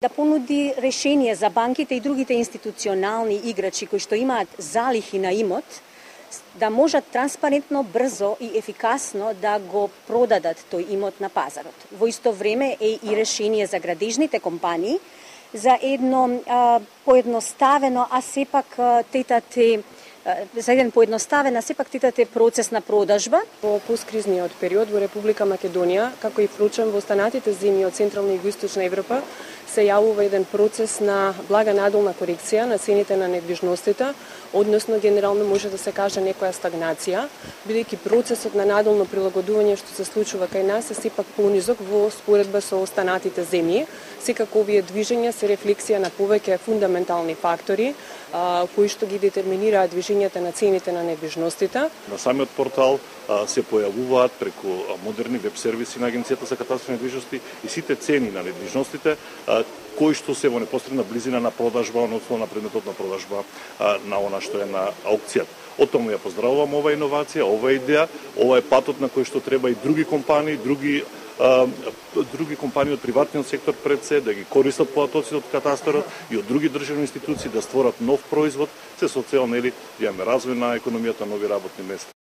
Да понуди решение за банките и другите институционални играчи кои што имаат залихи на имот, да можат транспарентно, брзо и ефикасно да го продадат тој имот на пазарот. Во исто време е и решение за градежните компании за едно поедноставено, а сепак тетате процес на продажба. Во посткризниот период во Република Македонија, како и впрочем во останатите земји од Централна и Југоисточна Европа, се јавува еден процес на блага надолна корекција на цените на недвижностите, односно генерално може да се каже некоја стагнација, бидејќи процесот на надолно прилагодување што се случува кај нас е сепак понизок во споредба со останатите земји. Секако овие движења се рефлексија на повеќе фундаментални фактори кои што ги детерминираат движењата на цените на недвижностите. На самиот портал се појавуваат преку модерни веб сервиси на Агенцијата за катастар на недвижности и сите цени на недвижностите кои што се во непосредна близина на продажба, односно на предметот на продажба на она што е на аукцијата. Оттаму ја поздравувам ова иновација, ова идеја, ова е патот на кој што треба и други компании, други компании од приватниот сектор пред се да ги користат податоците од катастарот и од други државни институции да створат нов производ, се со цел да имаме развој на економијата, нови работни места.